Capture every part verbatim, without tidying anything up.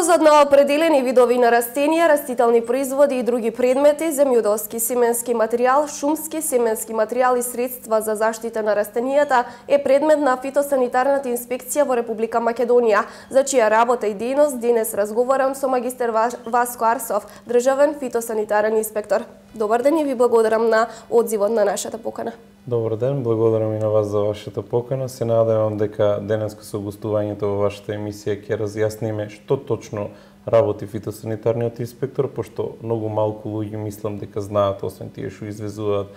Увозот на определени видови на растенија, растителни производи и други предмети, земјоделски семенски материјал, шумски семенски материјал и средства за заштита на растенијата е предмет на фитосанитарната инспекција во Република Македонија, за чија работа и дејност денес разговарам со магистер Васко Арсов, државен фитосанитарен инспектор. Добар ден и ви благодарам на одзивот на нашата покана. Добар ден, благодарам и на вас за вашата покана. Се надевам дека денеска со гостувањето во вашата емисија ќе разјасниме што точно работи фитосанитарниот инспектор, пошто многу малку луѓе мислам дека знаат, освен тие што извезуваат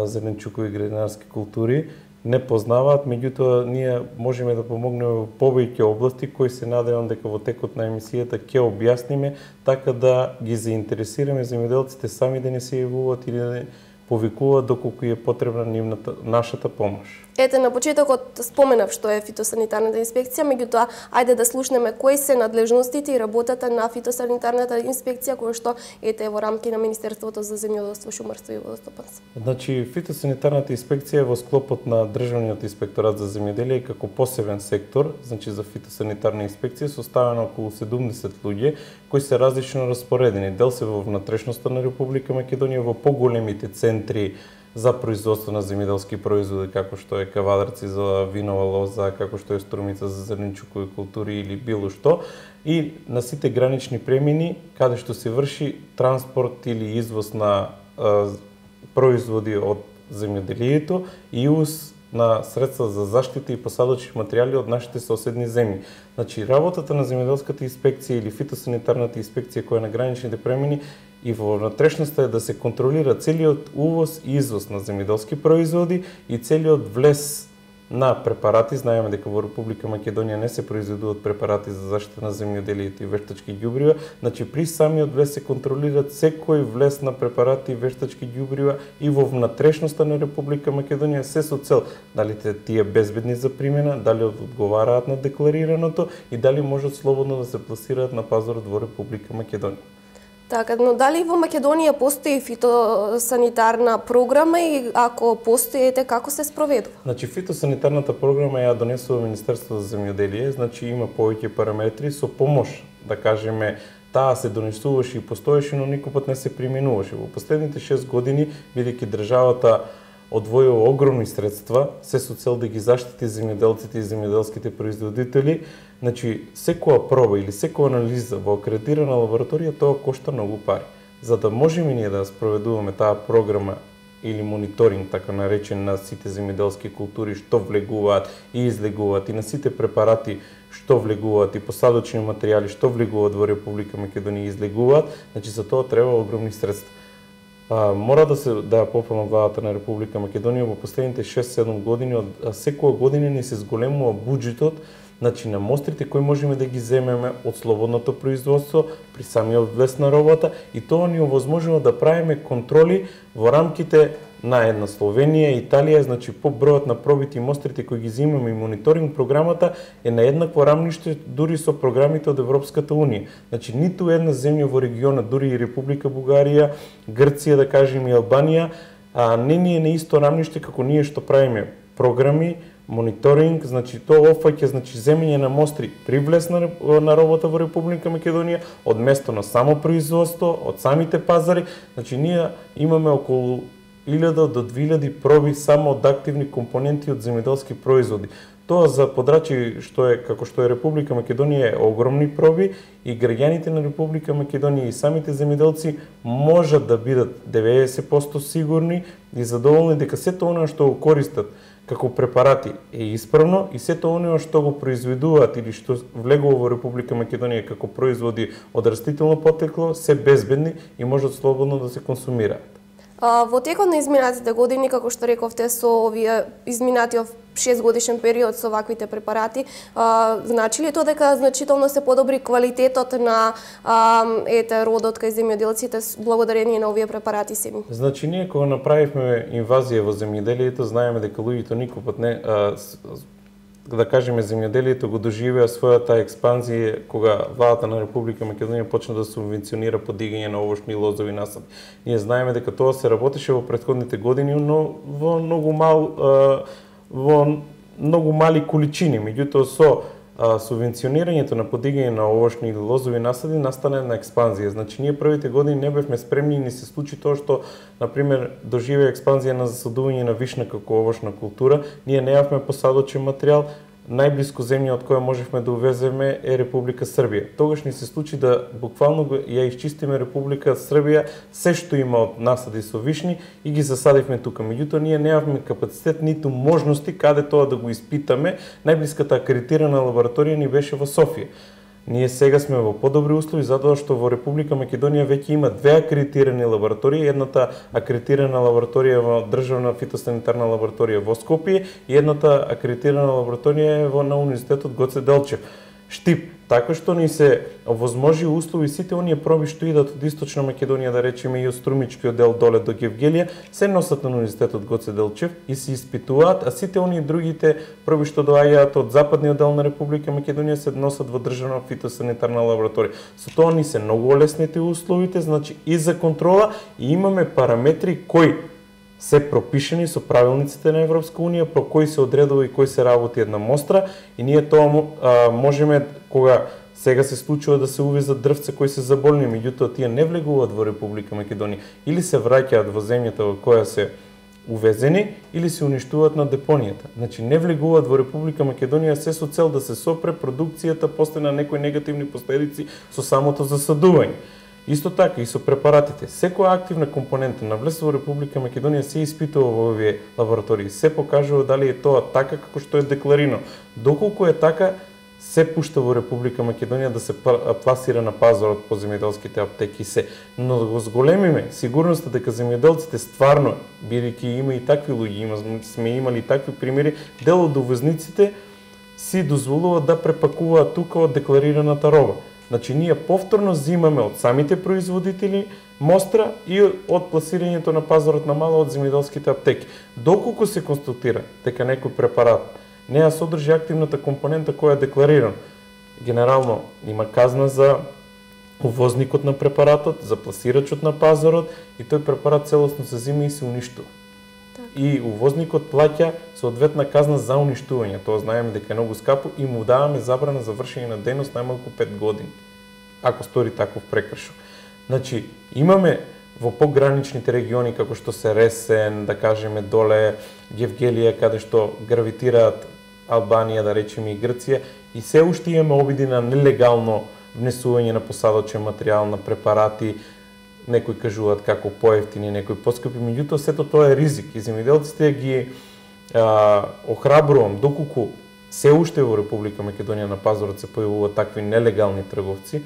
зеленчукови и градинарски култури, не познаваат, меѓутоа ние можеме да помогнеме во повеќе области кои се надевам дека во текот на емисијата ќе објасниме, така да ги заинтересираме земјоделците сами да не се јавуваат или да не повикуваат доколку е потребна нивната нашата помош. Ете, на почетокот споменав што е фитосанитарната инспекција, меѓутоа ајде да слушнеме кои се надлежностите и работата на фитосанитарната инспекција која што ете во рамки на Министерството за земјоделство, шумарство и водостопанство. Значи фитосанитарната инспекција е во склопот на Државниот инспекторат за земјоделие како посебен сектор, значи за фитосанитарна инспекција составена околу седумдесет луѓе кои се различно распоредени. Дел се во внатрешноста на Република Македонија, во поголемите центри за производство на земјоделски производи, како што е Кавадарци за винова лоза, како што е Струмица за зеленчукови култури или било што, и на сите гранични премини каде што се врши транспорт или извоз на а, производи од земјоделието и увоз на средства за заштита и посадочни материјали од нашите соседни земји. Значи, работата на земјоделската инспекција или фитосанитарната инспекција која е на граничните премини и во внатрешноста е да се контролира целиот увоз и извоз на земјоделски производи и целиот влез на препарати. Знаеме дека во Република Македонија не се произведуваат препарати за заштита на земјоделието и вештачки ѓубрива, значи при самиот влез се контролираат секој влез на препарати и вештачки ѓубрива и во внатрешноста на Република Македонија, се со цел дали тие безбедни за примена, дали одговараат на декларираното и дали можат слободно да се пласираат на пазарот во Република Македонија. Така, но дали во Македонија постои фитосанитарна програма и ако постоите, како се спроведува? Значи, фитосанитарната програма ја донесува Министерството за земјоделие, значи има повеќе параметри со помош, да кажеме, таа се донесуваше и постоеше, но никој пат не се применуваше. Во последните шест години, бидејќи државата одвојува огромни средства, се со цел да ги заштити земјоделците и земјоделските производители. Значи, секоја проба или секоја анализа во акредитирана лабораторија, тоа кошта многу пари. За да можеме ние да спроведуваме таа програма или мониторинг, така наречен, на сите земјоделски култури што влегуваат и излегуваат и на сите препарати што влегуваат и посадочни материјали што влегуваат во Република Македонија и излегуваат, значи за тоа треба огромни средства. А, мора да се да поправам владата на Република Македонија во последните шест-седум години, од секоја година ни се зголемува буџетот, значи на мострите кои можеме да ги земеме од слободното производство при самиот влез на робата, и тоа ни овозможува да правиме контроли во рамките на една Словенија и Италија, значи по бројот на пробите и мострите кои ги земеме и мониторинг програмата е на еднакво рамниште дури со програмите од Европската унија. Значи ниту една земја во регионот, дури и Република Бугарија, Грција, да кажеме, и Албанија, а не ни е на исто рамниште како ние што правиме програми, мониторинг, значи тоа опфаќа, значи земење на мостри при влез на, на работа во Република Македонија, од место на само производство, од самите пазари, значи ние имаме околу илјада до две илјади проби само од активни компоненти од земјоделски производи. Тоа за подрачи што е како што е Република Македонија е огромни проби и граѓаните на Република Македонија и самите земјоделци можат да бидат деветдесет проценти сигурни и задоволни дека сето она што го користат како препарати е исправно и сето оно што го произведуваат или што влегува во Република Македонија како производи од растително потекло се безбедни и можат слободно да се консумираат. Во текот на изминатите години, како што рековте, со овие изминатиот шест годишен период со ваквите препарати, а, значи ли тоа дека значително се подобри квалитетот на а, ете родот кај земјоделците благодарение на овие препарати семи? Значи ние кога направивме инвазија во земјоделието, знаеме дека луѓето никој пат не а, да кажеме земјоделието го доживеа својата експанзија кога владата на Република Македонија почна да субвенционира подигање на овошни лозови насади. Ние знаеме дека тоа се работеше во претходните години, но во многу мал во многу мали количини, меѓутоа со а, субвенционирањето на подигање на овошни или лозови насади настане на експанзија. Значи, ние првите години не бевме спремни и ни се случи тоа што, например, доживеа експанзија на засадување на вишна како овошна култура. Ние неавме посадочен материјал, најблиско земја од која можевме да увеземе е Република Србија. Тогаш ни се случи да буквално ја исчистиме Република Србија се што има од насади со вишни и ги засадивме тука. Меѓутоа ние немавме капацитет ниту можности каде тоа да го испитаме. Најблиската акредитирана лабораторија ни беше во Софија. Ние сега сме во подобри услови затоа што во Република Македонија веќе има две акредитирани лаборатории, едната акредитирана лабораторија во Државна фитосанитарна лабораторија во Скопје и едната акредитирана лабораторија е во на Универзитетот Гоце Делчев, Штип. Така што ни се овозможи услови сите оние проби што идат од Источна Македонија, да речеме и од Струмичкиот дел доле до Гевгелија, се носат на Универзитетот Гоце Делчев и се испитуваат, а сите оние другите проби што доаѓаат од западниот дел на Република Македонија се носат во Државна фитосанитарна лабораторија. Со тоа ни се многу олеснети условите, значи и за контрола, и имаме параметри кои се пропишени со правилниците на Европска Унија, про кои се одредува и кои се работи една мостра, и ние тоа а, можеме, кога сега се случува да се увезат дрвца кои се заболни, меѓутоа тие не влегуваат во Република Македонија, или се враќаат во земјата во која се увезени, или се уништуваат на депонијата. Значи не влегуваат во Република Македонија се со цел да се сопре продукцијата после на некои негативни последици со самото засадување. Исто така и со препаратите. Секоја активна компонента на влез во Република Македонија се испитува во овие лаборатории. Се покажува дали е тоа така како што е декларирано. Доколку е така, се пушта во Република Македонија да се пласира на пазарот по земјоделските аптеки се. Но да го зголемиме сигурноста дека земјоделците стварно, бидејќи има и такви луѓе, има, сме имали и такви примери, дел од увозниците си дозволуваат да препакуваат тука од декларираната роба. Значи, ние повторно зимаме од самите производители мостра и од пласирањето на пазарот на мало од земјоделските аптеки. Доколку се констатира дека некој препарат не ја содржи активната компонента која е декларирана, генерално има казна за увозникот на препаратот, за пласирачот на пазарот и тој препарат целосно се зима и се уништува. И увозникот плаќа соодветна казна за уништување. Тоа знаеме дека е многу скапо и му даваме забрана за вршење на дејност најмалку пет години, ако стори таков прекршок. Значи, имаме во пограничните региони како што се Ресен, да кажеме доле Гевгелија, каде што гравитираат Албанија, да речеме и Грција, и се уште имаме обиди на нелегално внесување на посадочен материјал, на препарати. Некои кажуваат како поевтини, некои поскапи, меѓутоа сето тоа е ризик и земјоделците ги а, охрабрувам, доколку се уште во Република Македонија на пазарот се појавуваат такви нелегални трговци,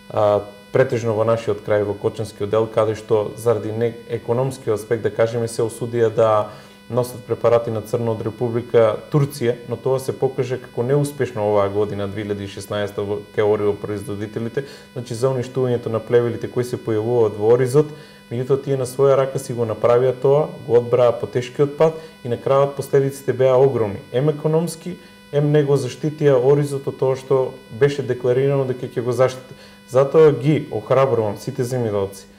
а, претежно во нашиот крај, во Кочанскиот дел, каде што заради не економскиот аспект, да кажеме, се осудија да носат препарати на црно од Република Турција, но тоа се покаже како неуспешно оваа година, две илјади и шеснаесета, кај ориопроизводителите, значи за уништувањето на плевелите кои се појавуваат во оризот, меѓутоа тие на своја рака си го направија тоа, го одбраа по тешкиот пат и на крајот последиците беа огромни. Ем економски, ем не го заштитија оризот од тоа што беше декларирано дека ќе го заштити. Затоа ги охрабрувам сите земјоделци,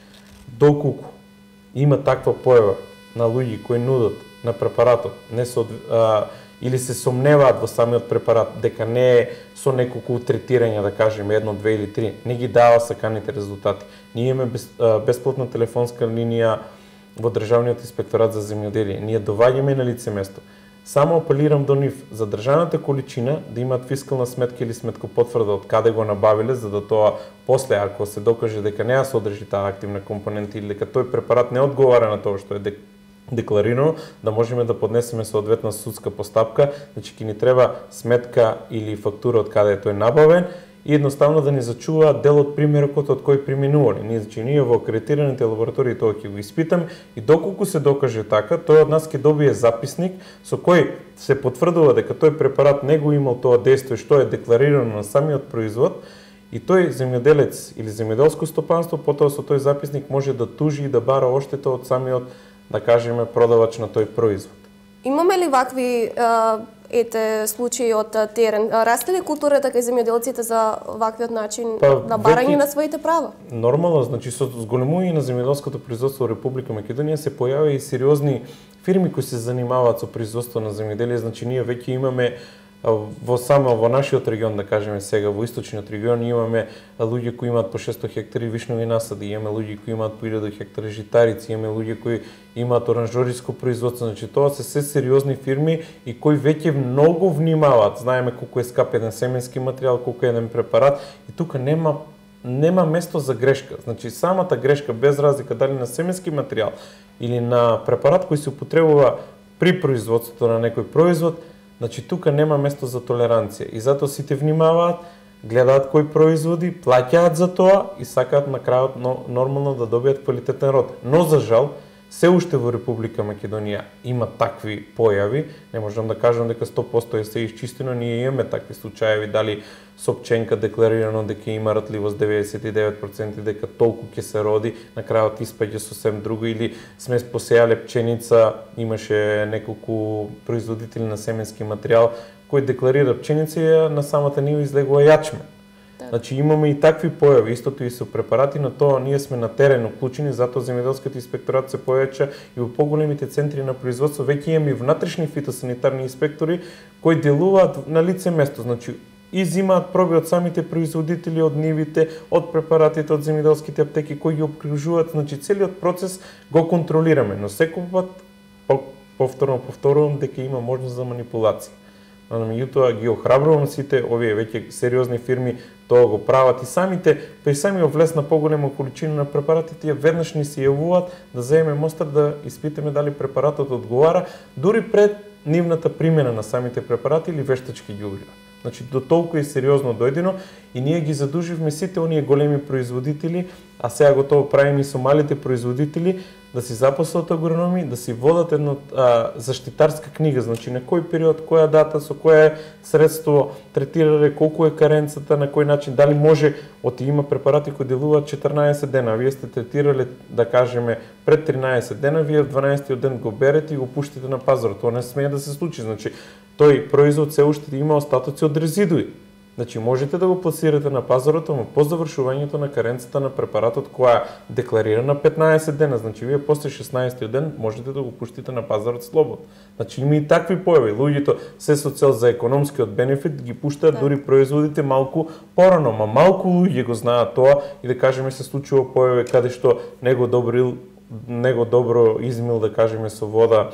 доколку има таква појава на луѓе кои нудат на препаратот, не со, а, или се сомневаат во самиот препарат, дека не е со неколку третирања, да кажеме, едно, две или три, не ги дава саканите резултати. Ние имаме без, а, бесплатна телефонска линија во Државниот инспекторат за земјоделие. Ние доваѓаме на лице место. Само апелирам до нив за држаната количина да имаат фискална сметка или сметкопотврда од каде го набавиле, за да тоа после, ако се докаже дека не ја содржи таа активна компонента или дека тој препарат не одговара на тоа што е декларирано, да можеме да поднесеме соодветна судска постапка, значи ќе ни треба сметка или фактура од каде е тој набавен и едноставно да ни зачуваат дел од примерокот од кој преминувале. Ние, значи, ние во акредитираните лаборатории тоа ќе го испитаме и доколку се докаже така, тој од нас ќе добие записник со кој се потврдува дека тој препарат не го имал тоа дејство што е декларирано на самиот производ и тој земјоделец или земјоделско стопанство потоа со тој записник може да тужи и да бара оштета од самиот, да кажеме, продавач на тој производ. Имаме ли вакви а, ете случаи од терен? Расте ли културата кај земјоделците за ваквиот начин па, на барање веки, на своите права? Нормално, значи со зголемување на земјоделското производство во Република Македонија се појави и сериозни фирми кои се занимаваат со производство на земјоделие, значи ние веќе имаме во само во нашиот регион, да кажеме сега, во источниот регион имаме луѓе кои имаат по шесто хектари вишнови насади, имаме луѓе кои имаат по илјада хектари житарици, имаме луѓе кои имаат оранжериско производство, значи тоа се се сериозни фирми и кои веќе многу внимаваат. Знаеме колку е скап еден семенски материјал, колку е еден препарат и тука нема нема место за грешка. Значи самата грешка без разлика дали на семенски материјал или на препарат кој се употребува при производството на некој производ, значи тука нема место за толеранција и затоа сите внимаваат, гледаат кои производи, плаќаат за тоа и сакаат на крајот нормално да добијат квалитетен род. Но за жал, се уште во Република Македонија има такви појави, не можам да кажам дека сто проценти е се исчистено, ние имаме такви случаи, дали со пченка декларирано дека има ратливост деветдесет и девет проценти, дека толку ќе се роди, на крајот испаѓа сосем друго, или сме посеале пченица, имаше неколку производители на семенски материјал кој декларира пченица и на самата нива излегува јачме. Значи имаме и такви појави, истото и со препарати, на тоа ние сме на терен уклучени, затоа земјоделскиот инспекторат се појача и во поголемите центри на производство веќе имаме и внатрешни фитосанитарни инспектори кои делуваат на лице место, значи и земаат проби од самите производители, од нивите, од препаратите, од земјоделските аптеки кои ги обкружуваат, значи целиот процес го контролираме, но секој пат повторно повторувам дека има можност за манипулација. Но меѓутоа ги охрабрувам сите овие веќе сериозни фирми тоа го прават и самите при самиот влез на поголема количина на препаратите веднаш ни се јавуваат да земеме мостар да испитаме дали препаратот одговара дури пред нивната примена на самите препарати или вештачки ѓубрива. Значи до толку и сериозно дојдено и ние ги задуживме сите оние големи производители, а сега го тоа правиме и со малите производители, да си запослат агрономи, да си водат една а, заштитарска книга, значи на кој период, која дата, со кое средство третирале, колку е каренцата, на кој начин, дали може, оти има препарати кои делуваат четрнаесет дена, а вие сте третирале, да кажеме, пред тринаесет дена, вие в дванаесеттиот ден го берете и го пуштите на пазарот. Тоа не смее да се случи, значи тој производ се уште има остатоци од резидуи. Значи можете да го пласирате на пазарот, но по завршувањето на каренцата на препаратот која декларира на петнаесет дена, значи вие после шеснаесеттиот ден можете да го пуштите на пазарот слободно. Значи има и такви појави. Луѓето се со цел за економскиот бенефит ги пуштаат да. Дури производите малку порано, ма малку луѓе го знаат тоа и да кажеме се случува појави каде што него добрил, него добро измил, да кажеме со вода,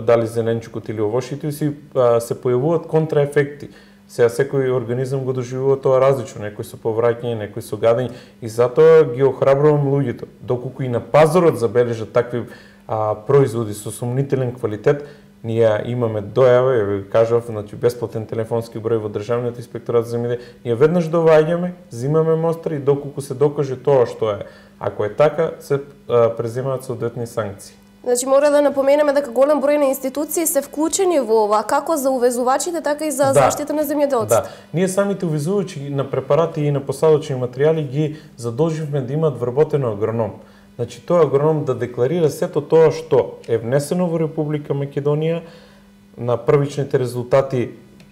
дали зеленчукот или овошите, си се појавуваат контраефекти. Сега секој организам го доживува тоа различно, некој со повраќање, некој со гадење и затоа ги охрабрувам луѓето. Доколку и на пазарот забележат такви а, производи со сомнителен квалитет, ние имаме дојава, ја ви кажав, значи бесплатен телефонски број во Државниот инспекторат за земјоделие. Ние веднаш доваѓаме, земаме мостри и доколку се докаже тоа што е. Ако е така, се а, преземаат соодветни санкции. Значи мора да напоменеме дека голем број на институции се вклучени во ова, како за увезувачите, така и за да, заштита на земјоделците. Да, ние самите увезувачи на препарати и на посадочни материјали ги задолживме да имаат вработено агроном. Значи тој агроном да декларира сето тоа што е внесено во Република Македонија на првичните резултати,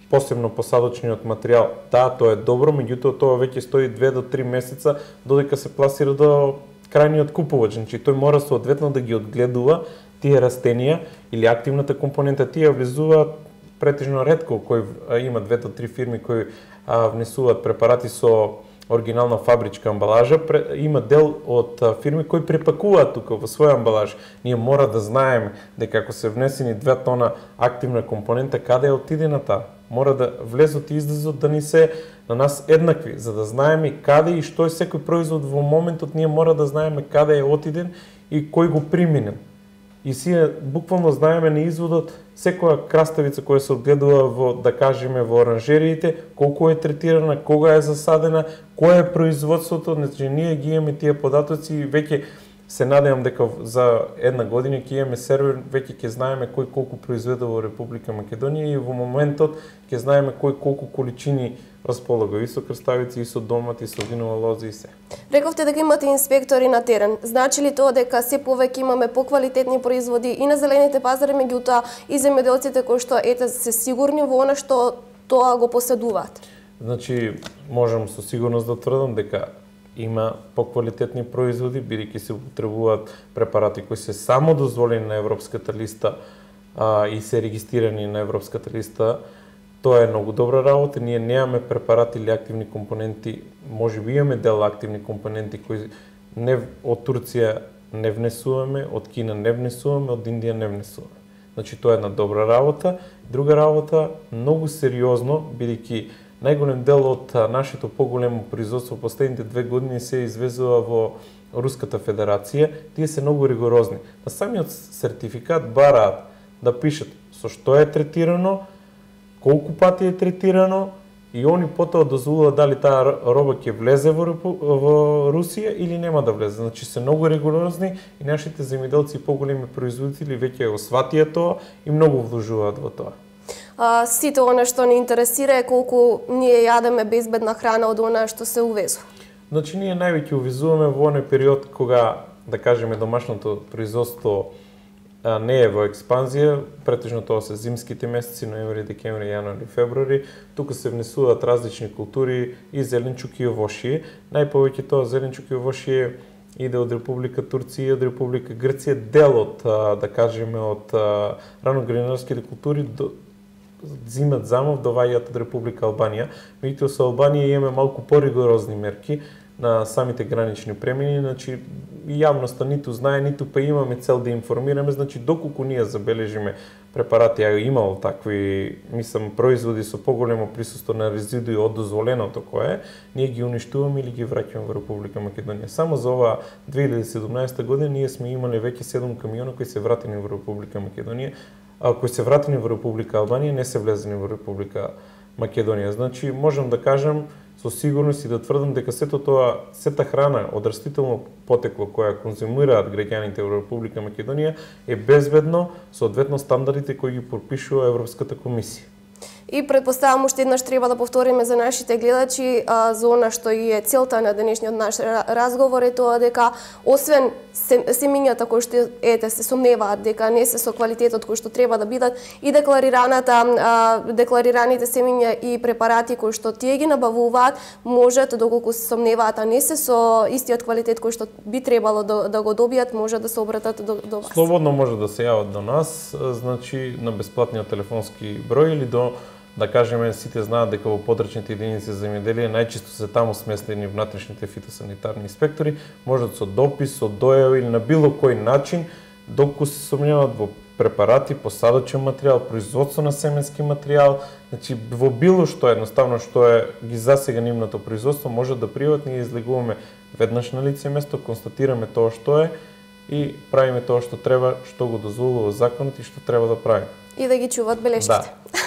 посебно посадочниот материјал. Да, тоа е добро, меѓутоа тоа веќе стои две до три месеца додека се пласира до крајниот купувач, значи тој мора соодветно да ги одгледува тие растенија или активната компонента. Тие влезуваат претежно ретко, кои има две до три фирми кои а, внесуваат препарати со оригинална фабричка амбалажа, има дел од а, фирми кои препакуваат тука во своја амбалаж. Ние мора да знаеме дека ако се внесени две тона активна компонента, каде е отидена таа? Мора да влезот и излезот да ни се на нас еднакви, за да знаеме каде и што е секој производ во моментот, ние мора да знаеме каде е отиден и кој го приминен. И сие буквално знаеме на изводот секоја краставица која се одгледува во, да кажеме, во оранжериите, колку е третирана, кога е засадена, кој е производството, значи ние ги имаме тие податоци и веќе се надевам дека за една година ќе имаме сервер, веќе ќе знаеме кој колку произведе во Република Македонија и во моментот ќе знаеме кој колку количини располага и со крставици, и со домати, и со винова лоза и се. Рековте дека имате инспектори на терен. Значи ли тоа дека се повеќе имаме поквалитетни производи и на зелените пазари, меѓутоа и земјоделците кои што ете се сигурни во она што тоа го поседуваат? Значи можам со сигурност да тврдам дека има поквалитетни производи, бидејќи се употребуваат препарати кои се само дозволени на европската листа а, и се регистрирани на европската листа Тоа е многу добра работа. Ние немаме препарати или активни компоненти, можеби имаме дел активни компоненти кои не од Турција не внесуваме, од Кина не внесуваме, од Индија не внесуваме. Значи тоа е една добра работа. Друга работа, многу сериозно, бидејќи најголем дел од нашето поголемо производство последните две години се извезува во Руската Федерација, тие се многу ригорозни. На самиот сертификат бараат да пишат со што е третирано, колку пати е третирано и они потоа дозволуваат дали таа роба ќе влезе во, во Русија или нема да влезе. Значи се многу ригорозни и нашите земјоделци и поголеми производители веќе го сватија тоа и многу вложуваат во тоа. А, сите она што ни интересира е колку ние јадеме безбедна храна од она што се увезува. Значи ние највеќе увезуваме во оној период кога, да кажеме, домашното производство а, не е во експанзија, претежно тоа се зимските месеци, ноември, декември, јануари, февруари. Тука се внесуваат различни култури и зеленчук и овошје. Најповеќе тоа зеленчук и овошје иде од Република Турција и од Република Грција, дел од, да кажеме, од раногринарските култури до зимат замов доваѓаат од Република Албанија. Меѓутоа со Албанија имаме малку поригорозни мерки на самите гранични премини, значи јавноста ниту знае, ниту па имаме цел да информираме, значи доколку ние забележиме препарати, а имало такви, мислам, производи со поголемо присуство на резидуи од дозволеното кое е, ние ги уништуваме или ги враќаме во Република Македонија. Само за оваа две илјади и седумнаесета година ние сме имале веќе седум камиона кои се вратени во Република Македонија, а кои се вратени во Република Албанија, не се влезени во Република Македонија. Значи можам да кажам со сигурност и да тврдам дека сето тоа, сета храна од растително потекло која конзумираат граѓаните во Република Македонија е безбедно соодветно стандардите кои ги пропишува Европската комисија. И предпоставам уште еднаш треба да повториме за нашите гледачи а, за она што и е целта на денешниот наш разговор е тоа дека освен семињата кои што ете се сомневаат дека не се со квалитетот кој што треба да бидат и декларираната а, декларираните семиња и препарати кои што тие ги набавуваат можат доколку се сомневаат а не се со истиот квалитет кој што би требало да, да го добијат можат да се обратат до, до вас. Слободно може да се јават до нас, значи на бесплатниот телефонски број или до, да кажеме, сите знаат дека во подрачните единици за земјоделие најчесто се таму сместени внатрешните фитосанитарни инспектори, можат со допис, со дојава или на било кој начин, доколку се сомневаат во препарати, посадочен материјал, производство на семенски материјал, значи во било што едноставно што е ги засега нивното производство, можат да пријават, ние излегуваме веднаш на лице место, констатираме тоа што е и правиме тоа што треба, што го дозволува законот и што треба да правиме. И да ги чуваат белешките. Да.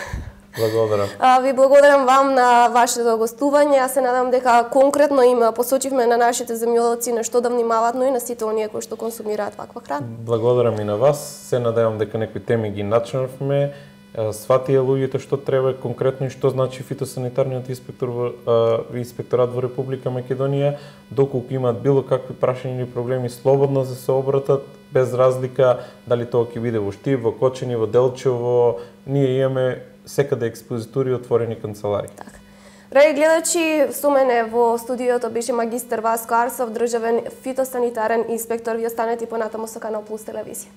Благодарам. А, ви благодарам вам на вашето гостување. Јас се надам дека конкретно им посочивме на нашите земјоделци на што да внимаваат, но и на сите оние кои што консумираат ваква храна. Благодарам и на вас. Се надевам дека некои теми ги начнавме, сватија луѓето што треба конкретно и што значи фитосанитарниот инспектор во инспекторат во Република Македонија, доколку имаат било какви прашања или проблеми, слободно да се обратат, без разлика дали тоа ќе биде во Штип, во Кочани, во Делчево, ние имаме секаде експозитури и отворени канцелари. Така. Драги гледачи, со мене во студиото беше магистар Васко Арсов, државен фитосанитарен инспектор. Ви останете понатаму со Канал Плюс телевизија.